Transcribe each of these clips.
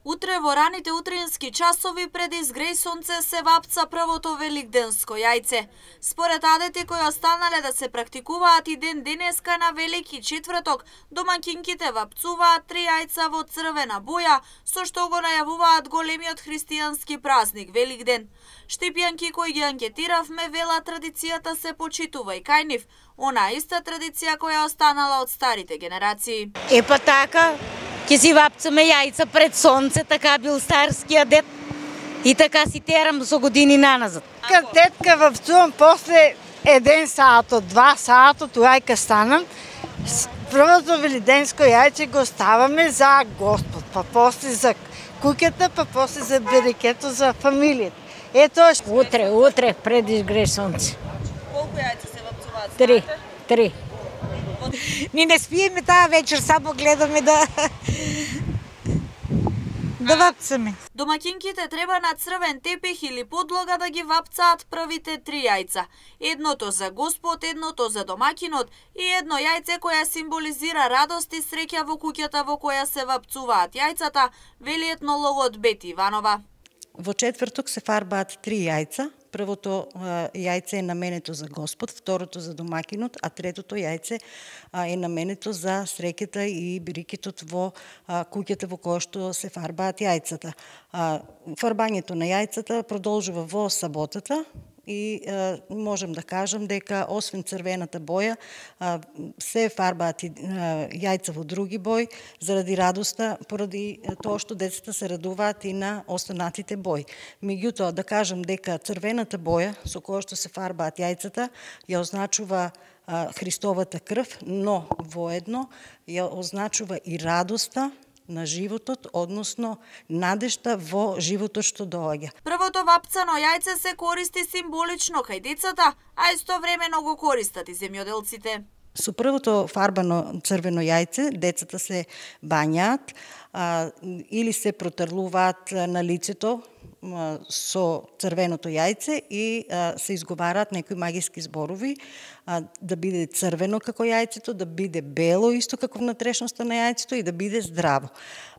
Утре во раните утрински часови пред изгреј сонце се вапца првото великденско јајце. Според адети кои останале да се практикуваат и ден денеска на Велики четврток, домаќинките вапцуваат 3 јајца во црвена боја, со што го најавуваат големиот христијански празник Великден. Штипјанки кои ги анкетиравме велат традицијата се почитува и кај нив, она иста традиција која останала од старите генерации. Епа така, ќе си вапцаме јајца пред сонце, така бил старскиот дед и така си терам со години наназад. Детка вапцувам после 1 саато, 2 саато, туајка станам. Првото великденско јајце го ставаме за Господ, па после за куќата, па после за берекето за фамилијата. Ето Утре пред изгреј сонце. Колку јајца се вапцуваат? 3. Ни не спиеме таа вечер, само гледаме да вапцаме. Домаќинките треба на црвен тепих или подлога да ги вапцаат првите 3 јајца. Едното за Господ, едното за домаќинот и едно јајце која символизира радост и среќа во куќата во која се вапцуваат јајцата, вели етнологот Бети Иванова. Во четврток се фарбаат 3 јајца. Првото јајце е наменето за Господ, второто за домаќинот, а третото јајце е наменето за среќата и бирикетот во куќата во која што се фарбаат јајцата. Фарбањето на јајцата продолжува во саботата и можем да кажам дека освен црвената боја се фарбаат и јајца во други бои заради радоста, поради тоа што децата се радуваат и на останатите бои. Меѓутоа да кажам дека црвената боја со која што се фарбаат јајцата ја означува Христовата крв, но воедно ја означува и радоста на животот, односно надежта во животот што доаѓа. Првото вапцано јајце се користи символично кај децата, а истовремено го користат и земјоделците. Со првото фарбано црвено јајце децата се бањаат или се протрлуваат на лицето со црвеното јајце и се изговараат некои магиски зборови, да биде црвено како јајцето, да биде бело исто како внатрешноста на јајцето и да биде здраво.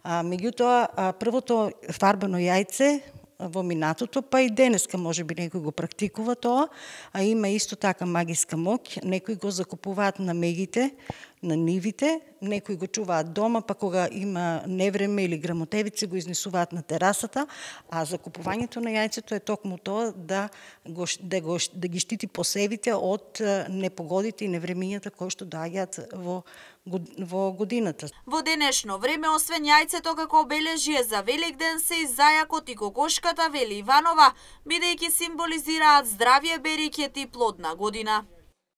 Меѓутоа, првото фарбано јајце во минатото, па и денеска може би некој го практикува тоа, а има исто така магиска моќ. Некои го закупуваат на мегите, на нивите, некои го чуваат дома, па кога има невреме или грамотевици го изнесуваат на терасата, а закупувањето на јајцето е токму тоа да ги штити посевите од непогодите и невремињата кои што доаѓаат во годината. Во денешно време, освен јајцето како обележје за Великден, се и зајакот и кокошката, вели Иванова, бидејќи символизираат здравје, берекет и плодна година.